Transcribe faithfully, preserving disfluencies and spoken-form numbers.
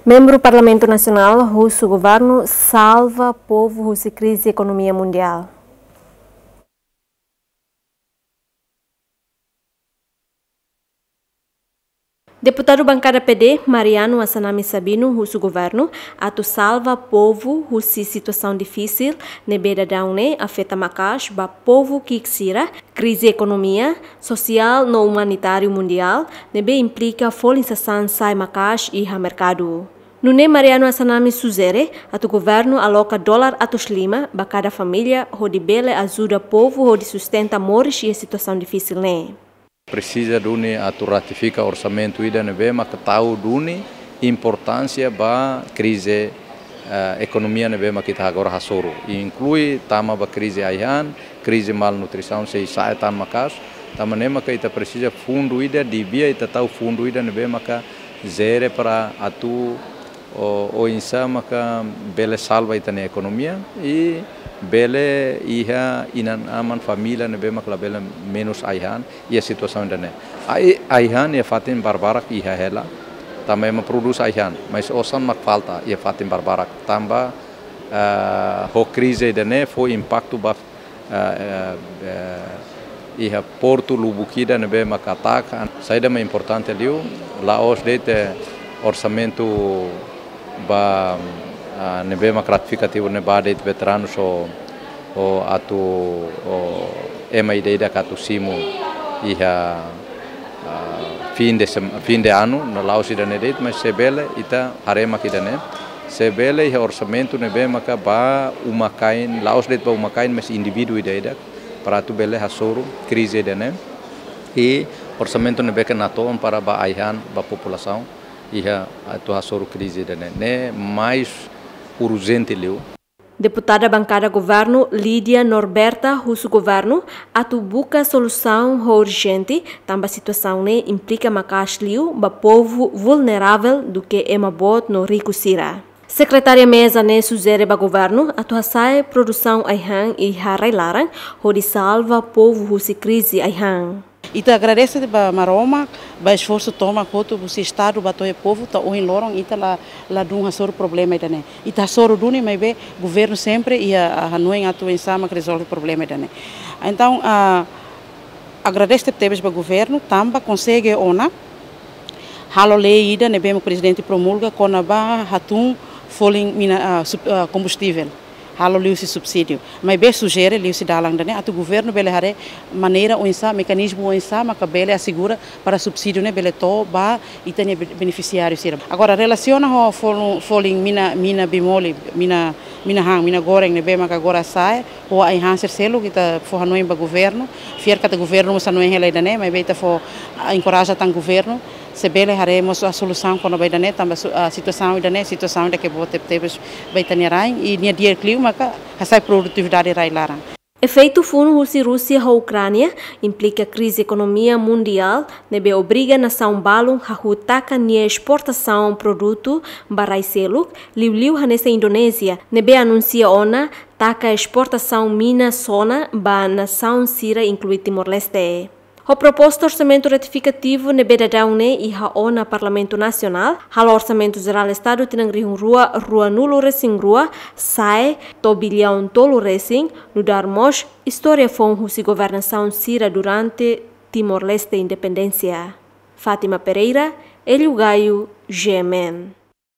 Membru Parlamentu Nasionál husu governu salva povu husi krize ekonomia mundiál. Deputadu bankada P D, Mariano Assanami Sabino, husu governu atu salva povu husi situasaun difisil ne'ebé daudaun ne'e afeta maka'as ba povu ki'ik sira, krize ekonomia, sosiál no umanitáriu mundiál ne'ebé implika folin sasán sa'e maka'as iha merkadu. Nune'e Mariano Assanami sujere atu governu aloka dolar atus lima ba kada família hodi bele ajuda povu hodi sustenta moris iha situasaun difisil ne'e. Presiza duni atu ratifika orsamentu ida ne'ebé maka tau duni importánsia ba krize, eh, ekonomia ne'ebé maka ita agora hasoru. Inklui tama ba krize ai-han, krize malnutrisaun sei sa'e tan maka'as. Tanba ne'e maka ita presiza fundu ida, devia ita tau fundu ida ne'ebé maka jere para atu o, oinsá maka bele salva ita-nia ekonomia i bele iha inan-aman família ne'ebé maka labele menus ai-han iha situasaun ida-ne'e. Ai, ai-han iha fatin barbarak iha hela, tanba ema prodús ai-han, mas osan mak falta iha fatin barbarak, tanba, ah, ho krize ida-ne'e fó impaktu ba, ah, eh, eh, iha portu lubuk ida ne'ebé maka taka. Saida mak importante liu, la'ós de'it orsamentu ba, ah, ne'ebé maka ratifikativu ne'e ba de'it veteranu só, o atu, o ema ida-idak atu simu iha, ah, fin de sem-, fin de anu, no la'ós ida-ne'e de'it, mas se bele ita haree mak ida-ne'e. Se bele iha orsamentu ne'ebé maka ba uma-kain, la'ós de'it ba uma-kain, mas indivíduu ida-idak, para atu bele hasoru krize ida-ne'e. I orsamentu ne'ebé ke natoon para ba ai-han ba populasaun iha atu hasoru krize ida-ne'e. Ne'e mais urjente liu. Deputada bankada governu Lídia Norberta husu governu atu buka solusaun ho urjente, tanba situasaun ne'e implika maka'as liu ba povu vulneravel duké ema boot no riku sira. Sekretária Meza ne'e sujere ba governu atu hasa'e produsaun ai-han iha rai-laran hodi salva povu husi krize ai-han. Ita agradese ba Maromak, ba esforsu tomak hotu husi Estadu ba to'o iha povu, to'o ohin loron ita la, ladún hasoru problema ida-ne'e. Ita hasoru duni, maibé governu sempre iha, ah, hanoin atu oinsá mak rezolve problema ida-ne'e. Entaun, ah, agradese tebes ba governu, tanba konsege ona halo lei ida ne'ebé mak prezidente promulga kona-ba hatún folin mina, ah, sub-, ah, kombustível. Halo liuhusi subsídiu. Maibé sujere liuhusi dalan ida-ne'e atu governu bele haree maneira oinsá, mekanizmu oinsá maka bele asegura para subsídiu ne'e bele to'o ba ita-nia be-, benefisiáriu sira. Agora, relasiona ho folin, folin mina, mina bimoli, mina, mina han, mina goreng ne'ebé maka agora sa'e, ho ai-han sira seluk, ita fó hanoin ba governu, fiar katak governu mós hanoin hela ida-ne'e, maibé ita fó, ah, enkoraja tan governu, se bele haree mós, ah, solusaun kona-ba ida-ne'e, tanba su-, ah, situasaun ida-ne'e, situasaun ida ke boot tebetebes ba ita-nia rain, i nia di'ak liu maka hasa'e produtividade rai-laran. Efeitu funu husi Rúsia ho Ukránia implika krize ekonomia mundiál ne'ebé obriga nasaun balun hahú taka nia esportasaun produtu ba rai seluk, liuliu hanesan Indonézia, ne'ebé anunsia ona taka esportasaun mina sona ba nasaun sira inklui Timor-Leste. Ho proposta orsamentu retifikativu ne'ebé daudaun ne'e iha ona Parlamentu Nasionál, halo Orsamentu Jerál Estadu tinan rihun rua ruanulu resin rua sa'e to'o biliaun tolu resin, nu'udar mós istória foun husi governasaun sira durante Timor-Leste independénsia. Fátima Pereira, Hélio Gaio, G M N.